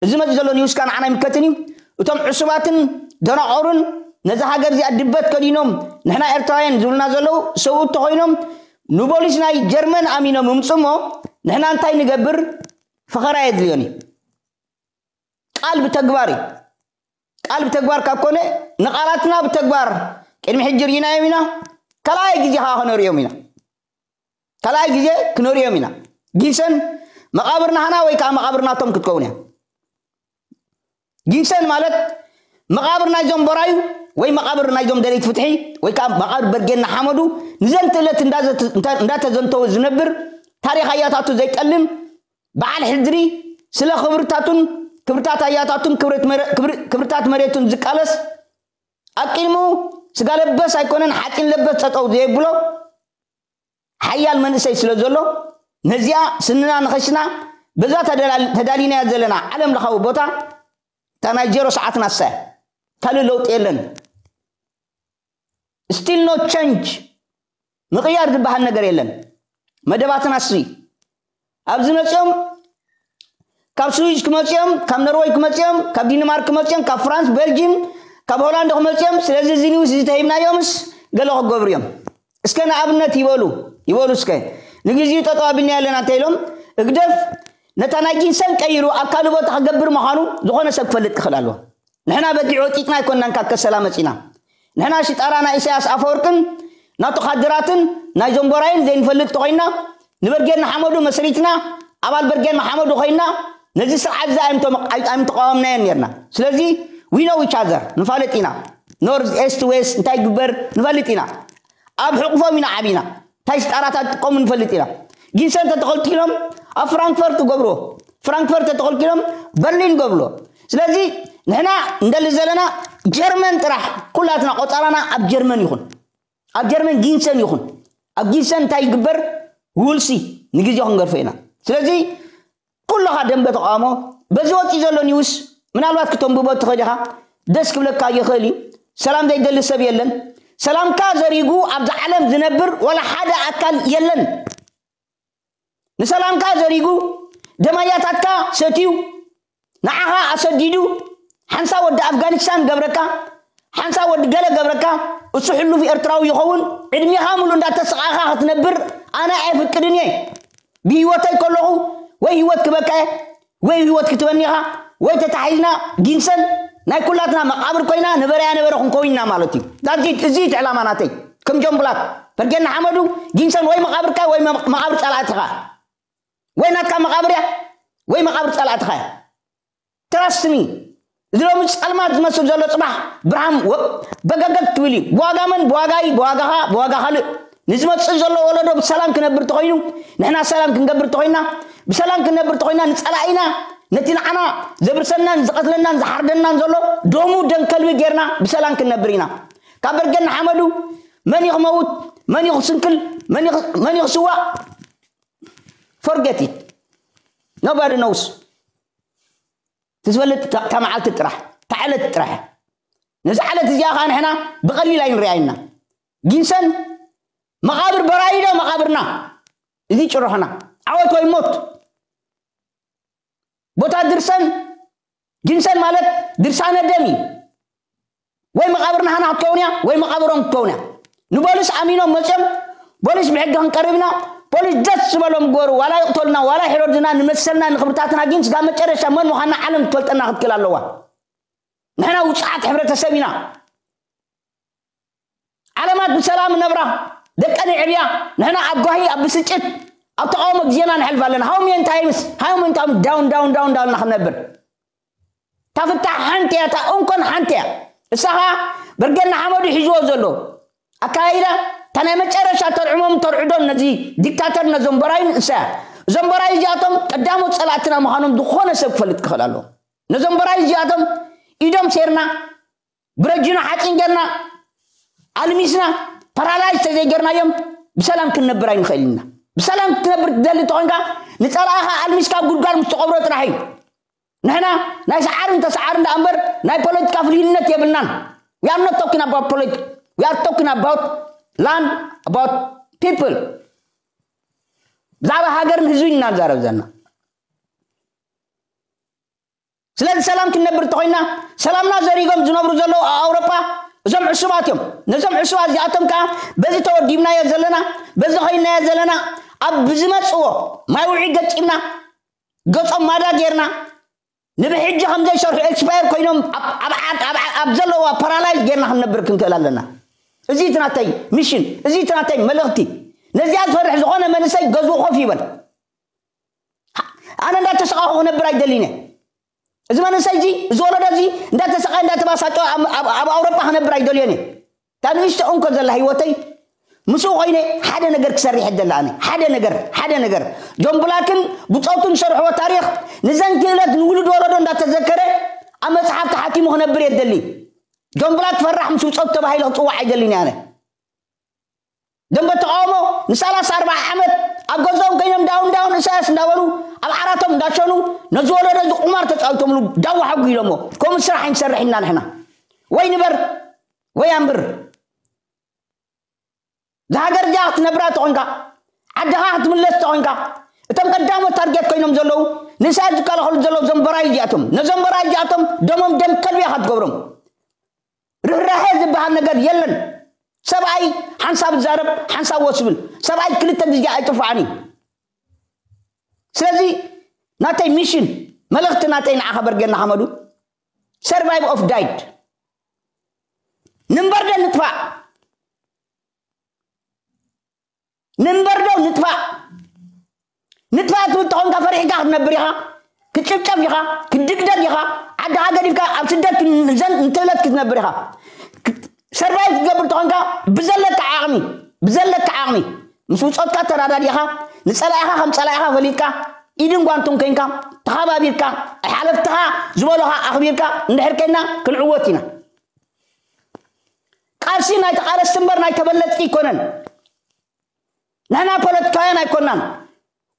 እዚ መፅእ ዘሎ ኒውስካ ንዓና ይምከትን እዩ። እቶም ዕሱባትን ደናቆርን ነዛ ሃገር እዚኣ ድበት ከዲኖም ንሕና ኤርትራውያን ዝብሉና ዘለዉ ሰብኡት ተኮይኖም ንፖሊስ ናይ ጀርመን ኣሚኖም ይምፁ እሞ ንሕና እንታይ ንገብር? ፈኸራ የድልዮን እዩ። ቃል ብተግባር እዩ። ቃል ብተግባር ካብ ኮነ ንቃላትና ብተግባር ቅድሚ ሕጂ ርኢናዮም ኢና። ካልኣይ ግዜ ከዓ ክነርእዮም ኢና። ካልኣይ ግዜ ክነርእዮም ኢና። ጊሰን መቓብር ናህና ወይ ከዓ መቓብር ናቶም ክትከውን እያ። ጊሰን ማለት መቓብር ናይዞም ቦራዩ ወይ መቓብር ናይዞም ደለይቲ ፍትሒ ወይ ከዓ መቓብር በርጌና ሓመዱ ንዘንትእለት እንዳተዘንተወ ዝነብር ታሪኽ ኣያታቱ ዘይጠልም በዓል ሕድሪ ስለ ክብርታቱን ክብርታት ኣያታቱን ክብርታት መሬቱን ዝቃለስ ኣብ ቅድሚኡ ስጋ ለበስ ኣይኮነን ሓፂን ለበስ ጠጠው ዘየብሎ ሓያል መንእሰይ ስለ ዘሎ ነዚኣ ስንና ንኸሽና በዛ ተዳሊናያ ዘለና ዓለም ለኻዊ ቦታ እታ ናይ ጀሮ ሰዓትና እሳ ካልእ ለውጢ የለን። Still no change። ምቕያር ዝበሃል ነገር የለን። መደባትና እሱ ኣብዚ መፅኦም ካብ ስዊዝ ክመፅኦም ካብ ኖርወይ ክመፅኦም ካብ ዲንማርክ ክመፅኦም ካብ ፍራንስ ቤልጂም ካብ ሆላንድ ክመፅኦም። ስለዚ እዚ ኒውስ እዚ ተሂብናዮምስ ገለ ክገብሩ እዮም። እስከ ንኣብነት ይበሉ ይበሉ እስከ ንግዜኡ ጠጠው ኣቢልና ኣለና እንተ ኢሎም ህግደፍ ነታ ናይ ጊንሰን ቀይሩ ኣብ ካልእ ቦታ ክገብር ምዃኑ ዝኾነ ሰብ ክፈልጥ ክኽእል ኣለዎ። ንሕና በጊዕ ወጢጥና ኣይኮንናን ካብ ከሰላ መፂና። ንሕና ሽጣራ ናይ ኢሳያስ ኣፈወርቅን ናቱ ካድራትን ናይ ዞምቦራይን ዘይንፈልጥ ተኮይና ንበርጌድ ንሓመዱ መስሪትና ኣባል በርጌድ ንሓመዱ ኮይና ነዚ ስርዓት እዚ ኣይምተቃወምናዮን ነርና። ስለዚ we know each other ንፋለጥ ኢና። ኖርዝ ኤስት ዌስት እንታይ ግበር ንፈልጥ ኢና። ኣብ ሕቁፎም ኢና ዓቢና። እንታይ ሽጣራታት ጥቀሙ ንፈልጥ ኢና። ጊንሰን ተተኸልኪሎም ኣብ ፍራንክፈርት ገብርዎ። ፍራንክፈርት ተተኸልኪሎም በርሊን ገብርዎ። ስለዚ ንሕና እንደሊ ዘለና ጀርመን ጥራሕ ኩላትና ቆፃራና ኣብ ጀርመን ይኹን ኣብ ጀርመን ጊንሰን ይኹን ኣብ ጊንሰን እንታይ ይግበር ውልሲ ንግዜ ክንገርፎ ኢና። ስለዚ ኩልኻ ደንበ ተቃውሞ በዚ ወፂ ዘሎ ኒውስ ምናልባት ክተንብቦ ትኽእል ኢኻ። ደስ ክብለካ ይኽእል እዩ። ሰላም ዘይደሊ ሰብ የለን። ሰላምካ ዘሪጉ ኣብዚ ዓለም ዝነብር ወላ ሓደ ኣካል የለን። ንሰላምካ ዘሪጉ ደማያታትካ ሰትዩ ንዓኻ ኣሰዲዱ ሓንሳ ወዲ ኣፍጋኒስታን ገብረካ ሓንሳ ወዲ ገለ ገብረካ እሱ ሕሉፍ ኤርትራዊ ይኸውን ዕድሜኻ ሙሉ እንዳተሰቃኻ ክትነብር ኣነ ኣይፍቅድን እየ። ብህይወተይ ከለኹ ወይ ህይወት ክበካ እየ ወይ ህይወት ክትበኒ ኢኻ ወይ ተታሒዝና ጊንሰን ናይ ኩላትና መቃብር ኮይና ነበረያ ነበረ ክንከውን ኢና ማለት እዩ። ዳዚት እዚ እቲ ዕላማ ናተይ ከም ጆምብላት በርጌና ሓመዱ ጊንሰን ወይ መቃብርካ ወይ መቃብር ጸላእትኻ ወይ ናትካ መቃብር እያ ወይ መቃብር ጸላእትኻ እያ። ትራስት ሚ እዚ ሎሚ ጸልማት ዝመስል ዘሎ ጽባሕ ብርሃን በገገግ ትብል እዩ። ብዋጋ መን ብዋጋ እዩ ብዋጋኻ ብዋጋ ካልእ ንዝመጽእ ዘሎ ወለዶ ብሰላም ክነብር ተኾይኑ ንሕና ሰላም ክንገብር ተኾይና ብሰላም ክንነብር ተኾይና ንጸላኢና ነቲ ንዓና ዘብርሰናን ዝቐትለናን ዝሓርደናን ዘሎ ደሙ ደም ከልቢ ጌርና ብሰላም ክንነብር ኢና። ካብ በርገን ንሓመዱ መን እዩ ክመውት መን እዩ ክስንክል መን እዩ ክስዋእ forget it nobody knows። ትዝበልጥ እታ መዓልቲ ጥራሕ እታ ዕለት ጥራሕ ነዚ ዓለት እዚኣ ከዓ ንሕና ብቐሊል ኣይንሪኣይና። ጊንሰን መቓብር በራይዶ መቓብርና እዚ ጭርሖና ዓወት ወይ ሞት ቦታ ድርሰን ጊንሰን ማለት ድርሳነ ደም እዩ። ወይ መቓብር ናህና ክትከውን እያ ወይ መቓብሮም ክትከውን እያ። ንፖሊስ ኣሚኖም መፅኦም ፖሊስ ብሕጊ ክንቀርብ ኢና ፖሊስ ደስ ዝበሎም ግበሩ ዋላ ይቕተሉና ዋላ ይሕረዱና ንመሰልና ንክብርታትና ግን ስጋ መጨረሻ መን ምዃንና ዓለም ትፈልጠና ክትክእል ኣለዋ። ንሕና ውፅዓት ሕብረተሰብ ኢና። ዓለማት ብሰላም ነብራ ደቀን ይዕብያ ንሕና ኣብ ጓሂ ኣብ ብስጭት ኣብ ተቃውሞ ግዜና ንሕልፍ ኣለና how many times how many times down down down down ንክነብር እታ ፍታሕ ሓንቲ እያ እታ እንኮን ሓንቲ እያ። እሳ ኸዓ በርገና ሓመዱ ሒዝዎ ዘሎ ኣካይዳ እታ ናይ መጨረሻ ተርዕሞም ተርዕዶም ነዚ ዲክታተር ነዞም በራይን እሳ እያ። እዞም በራይ እዚኣቶም ቀዳሞት ፀላእትና ምዃኖም ዝኾነ ሰብ ክፈልጥ ክኽእል ኣለዎ። ነዞም በራይ እዚኣቶም ኢዶም ሴርና ብረጅኖ ሓፂን ጌርና ኣልሚስና ፓራላይዝ ተዘይጌርናዮም ብሰላም ክንነብር ኣይንኽእል ኢና። ብሰላም ክትነብር ትደሊ ተኾንካ ንፀላእኻ ኣልሚስካ ጉድጓድ ምስ ትቐብሮ ጥራሕ እዩ። ንሕና ናይ ሰዓርን ተሰዓርን ደኣ እምበር ናይ ፖለቲካ ፍልይነት የብልናን። We are not talking about politics. We are talking about land, about people. ብዛዕባ ሃገርን ህዝብን ኢና ንዛረብ ዘለና። ስለዚ ሰላም ክንነብር እንተኾይና፣ ሰላምና ዘሪጎም ዝነብሩ ዘለዉ ኣብ ኣውሮጳ እዞም ዕሱባት እዮም። ነዞም ዕሱባት እዚኣቶም ከዓ በዚ ተወዲብናዮ ዘለና፣ በዚ ኸይድናዮ ዘለና፣ ኣብ ብዝመፅዎ ማይ ውዒ ገጢምና፣ ገጾም ማዳ ጌርና፣ ንብሕጂ ከም ዘይሰርሑ ኤክስፓየር ኮይኖም ኣብ- ኣብ ዓድ- ኣብ- ኣብ ዘለዋ ፓራላይዝ ጌርና ክንነብር ክንክእል ኣለና። እዚ እቲ ናተይ ሚሽን፣ እዚ እቲ ናተይ መልእኽቲ። ነዚኣ ዝፈርሕ ዝኾነ መንእሰይ ገዝኡ ኮፍ ይበል። ኣነ እንዳተሰቃኹ ክነብር ኣይደልን እየ። እዚ መንእሰይ እዚ፣ እዚ ወለዶ እዚ እንዳተሰቃየ እንዳተባሳጨ ኣብ- ኣብ ኣብ ኣውሮጳ ክነብር ኣይደልዮን እየ። እታ ንእሽቶ እንኮ ዘላ ህይወተይ ምስኡ ኮይነ ሓደ ነገር ክሰርሕ እደሊ ኣነ። ሓደ ነገር፣ ሓደ ነገር። ጆን ብላክን ብጾቱን ዝሰርሕዎ ታሪኽ ንዘን ክእለት ንውሉድ ወለዶ እንዳተዘከረ ኣብ መጽሓፍ ተሓቲሙ ክነብር እየ እደሊ። ጆን ብላክ ፈራሕ ምስ ብጾቱ ተባሂለ ክጽዋዕ ኣይደልን እየ ኣነ። ደንበ ተቃውሞ ንሰላሳ ኣርባዓ ዓመት ኣብ ገዝኦም ኮይኖም ዳውን ዳውን ኢሳያስ እንዳበሉ ኣብ ዓራቶም እንዳሸኑ ነዚ ወለዶ እዚ ቁማር ተጫዊቶምሉ ዳዋ ሓጒ ኢሎሞ። ከምኡ ስራሕ ኣይንሰርሕ ኢና ንሕና። ወይ ንበር ወይ ኣንብር። እዛ ሃገር እዚኣ ክትነብራ ተኾንካ፣ ዓድኻ ክትምለስ ተኾንካ፣ እቶም ቀዳሞት ታርጌት ኮይኖም ዘለዉ ንኢሳያስ ዝከላኸሉ ዘለዉ ዘንበራይ እዚኣቶም። ነዘንበራይ እዚኣቶም ደሞም ደም ከልቢ ኢኻ ትገብሮም። ርህራሄ ዝበሃል ነገር የለን። ሰብኣይ ሓንሳብ ዝዛረብ ሓንሳብ ወስብል። ሰብኣይ ክልተ ግዜ ኣይጥፋዕን እዩ። ስለዚ ናተይ ሚሽን፣ መልእኽቲ ናተይ ንዓኻ በርጌና ሓመዱ፣ ሰርቫይቭ ኦፍ ዳይድ። ንንበር ዶ ንጥፋእ? ንንበር ዶ ንጥፋእ? ንጥፋእ ትብል ተኾንካ ፈሪሕካ ክትነብር ኢኻ። ክትጭፍጨፍ ኢኻ፣ ክትድግደግ ኢኻ። ዓድኻ ገዲፍካ ኣብ ስደት ክንዘን እንትእለት ክትነብር ኢኻ። ሰርቫይቭ ክትገብር ተኾንካ ብዘለካ ዓቕሚ፣ ብዘለካ ዓቕሚ ምስ ውጾትካ ተራዳዲእኻ፣ ንጸላኢኻ ከም ጸላኢኻ ፈሊጥካ፣ ኢድን ጓንቱን ኮይንካ፣ ተኸባቢርካ፣ ሓለፍትኻ ዝበሎኻ ኣኽቢርካ እንድሕር ኮይና ክንዕወት ኢና። ቃልሲ ናይ ተቓለስቲ እምበር ናይ ተበለጽቲ ኣይኮነን። ንሕና ፖለቲካውያን ኣይኮናን።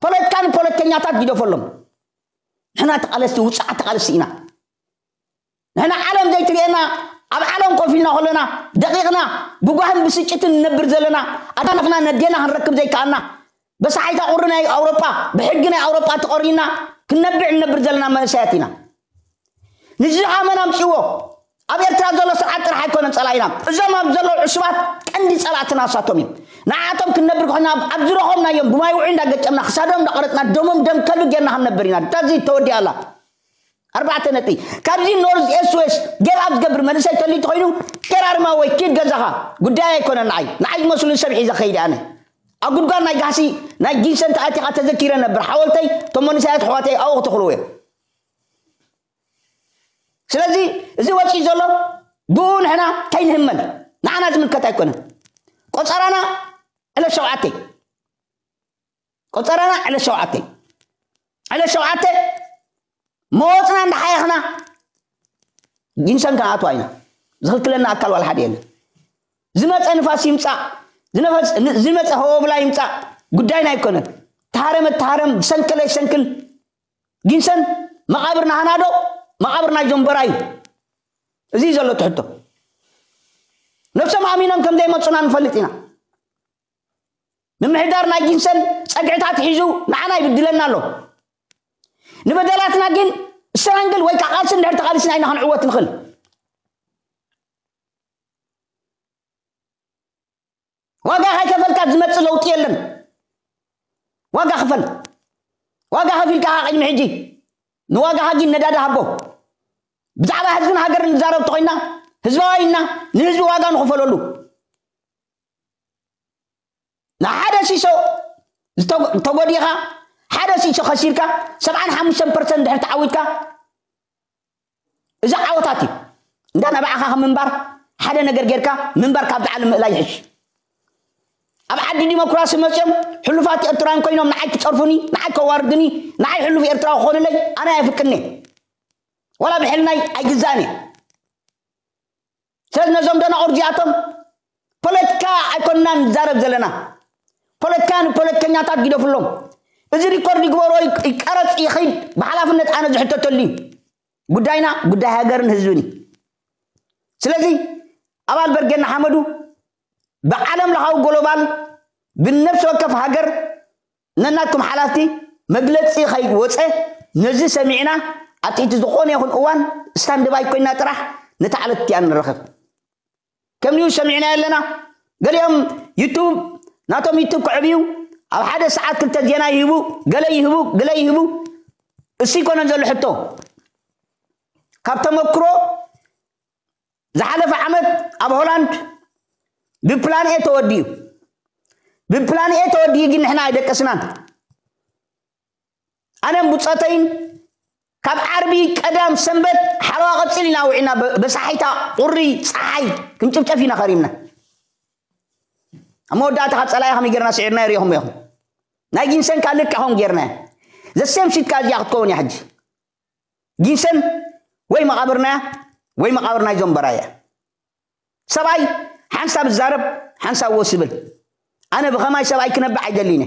ፖለቲካ ንፖለቲከኛታት ግደፈሎም። ንሕና ተቓለስቲ፣ ውጹዓት ተቓለስቲ ኢና። ንሕና ዓለም ዘይትርእየና፣ ኣብ ዓለም ኮፍ ኢልና ከለና ደቂቕና ብጓህን ብስጭትን ንነብር ዘለና፣ ኣዳናፍና ነዴና ክንረክብ ዘይከኣልና፣ በሳሓይታ ቁሪ ናይ ኣውሮጳ፣ ብሕጊ ናይ ኣውሮጳ ተቖሪና ክንነብዕ ንነብር ዘለና መንእሰያት ኢና። ንዚ ኣመን ኣምፅዎ። ኣብ ኤርትራ ዘሎ ስርዓት ጥራሕ ኣይኮነን ጸላኢና። እዞም ኣብ ዘለዉ ዕሱባት ቀንዲ ጸላእትና እሳቶም እዮም። ንዓቶም ክንነብር ኮይና ኣብ ዝረኸብናዮም ብማይ ውዒ እንዳገጨምና ክሳዶም እንዳቆረፅና ደሞም ደም ከልቢ ጌርና ክንነብር ኢና። እታ እዚ ተወዲኣ ኣላ። ኣርባዕተ ነጥቢ። ካብዚ ኖርዝ ኤስት ዌስት ጌብ ኣብ ዝገብር መንእሰይ ተሊቱ ኮይኑ ኬራርማ ወይ ኪድ ገዛኻ ጉዳይ ኣይኮነን። ንዓይ ንዓይ ዝመስሉን ሰብ ሒዘ ከይደ ኣነ ኣብ ጉድጓድ ናይ ጋህሲ ናይ ጊንሰን ተኣቲኻ ተዘኪረ ነብር ሓወልተይ እቶም መንእሰያት ኣሕዋተይ ኣብኡ ክተኽልዎ እዮም። ስለዚ እዚ ወፂኡ ዘሎ ብኡ ንሕና ከይንህመል ንዓና ዝምልከት ኣይኮነን። ቆፀራና ዕለት ሸውዓተ ቆፀራና ዕለት ሸውዓተ ዕለት ሸውዓተ መወፅና እንዳሓየኽና ጊንሰን ክንኣትዋ ኢና። ዝኽልክለና ኣካል ዋላ ሓደ የለን። ዝመፀ ንፋስ ይምፃእ ዝነፈስ- ን- ዝመፀ ሆብላ ይምፃእ ጉዳይና ኣይኮነን። ተሃረመ ተሃረም ዝሰንከለ ይሰንክል ጊንሰን መቓብር ናህና ዶ መቓብር ናይ ጀንበራ እዩ? እዚ እዩ ዘሎ ትሕቶ። ነብሶም ኣሚኖም ከም ዘይመፁና ንፈልጥ ኢና። ምምሕዳር ናይ ጊንሰን ፀግዕታት ሒዙ ንዓና ይብድለና ኣሎ። ንበደላትና ግን ስትራንግል ወይ ከዓ ቃልሲ እንድሕር ተቃሊስና ኢና ክንዕወት ንኽእል። ዋጋ ከይከፈልካ ዝመፅእ ለውጢ የለን። ዋጋ ክፈል። ዋጋ ከፊልካ ቅድሚ ሕጂ ንዋጋኻ ግን ነዳዲ ሃቦ። ብዛዕባ ህዝብን ሃገርን ንዛረብ ተኾይና ህዝባዊ ኢና። ንህዝቢ ዋጋ ንኽፈለሉ ንሓደ ሲሶ ዝተጎ- ተጎዲኻ ሓደ ሲሶ ከሲርካ ሰብዓን ሓሙሽተን ፐርሰንት ድሕር ተዓዊትካ እዚ ዓወታት እዩ። እንዳ ናባዕኻ ከም ምንባር ሓደ ነገር ጌርካ ምንባር ካብቲ ዓለም ምእላይ ይሕሽ። ኣብ ዓዲ ዲሞክራሲ መፅኦም ሕሉፋት ኤርትራውያን ኮይኖም ንዓይ ክፀርፉኒ ንዓይ ከዋርድኒ ንዓይ ሕሉፍ ኤርትራዊ ክኾኑለይ ኣነ ኣይፍቅድኒ። ወላ ብሕልናይ ኣይግዛእን እየ። ስለዚ ነዞም ደናቑር እዚኣቶም ፖለቲካ ኣይኮንና ንዛረብ ዘለና። ፖለቲካ ንፖለቲከኛታት ግደፍሎም። እዚ ሪኮርድ ይግበሮ ይቀረፅ ይኸይድ ብሓላፍነት ኣነ ዝሕተተሉ እዩ። ጉዳይና ጉዳይ ሃገርን ህዝብን እዩ። ስለዚ ኣባል በርጌና ሓመዱ ብዓለም ለኻዊ ጎሎባል ብነፍሲ ወከፍ ሃገር ነናትኩም ሓላፍቲ መግለፂ ከይወፀ ነዚ ሰሚዕና ኣብ ትሕቲ ዝኾነ ይኹን እዋን ስታንድባይ ኮይና ጥራሕ ነታ ዕለት እቲኣ ንረኸብ። ከምኡ ሰሚዕና ኣለና። ገሊኦም ዩቱብ ናቶም ዩቱብ ክዕብዩ ኣብ ሓደ ሰዓት ክልተ ዜና ይህቡ፣ ገለ ይህቡ፣ ገለ ይህቡ። እሱ ይኮነን ዘሎ ሕቶ። ካብ ተመክሮ ዝሓለፈ ዓመት ኣብ ሆላንድ ብፕላን ኤ ተወዲኡ። ብፕላን ኤ ተወዲኡ ግን ንሕና ኣይደቀስናን። ኣነን ብጾተይን ካብ ዓርቢ ቀዳም ሰንበት ሓለዋ ቀጽል ኢና ውዒና በሳሒታ ቁሪ ጸሓይ ክንጭፍጨፍ ኢና ኸሪምና። ኣብ መወዳእታ ካብ ጸላኢ ከመይ ጌርና ስዒርና ይሪኹም ኢኹም። ናይ ጊንሰን ካልእ ከምኡ ጌርና። ዘሴም ሽት ከኣ እዚኣ ክትከውን እያ ሕጂ። ጊንሰን ወይ መቓብርናያ ወይ መቓብር ናይዞም በራያ። ሰብኣይ ሓንሳብ ዝዛረብ ሓንሳብ ወስ ይብል። ኣነ ብኸማይ ሰብኣይ ክነብዕ ኣይደልይነ።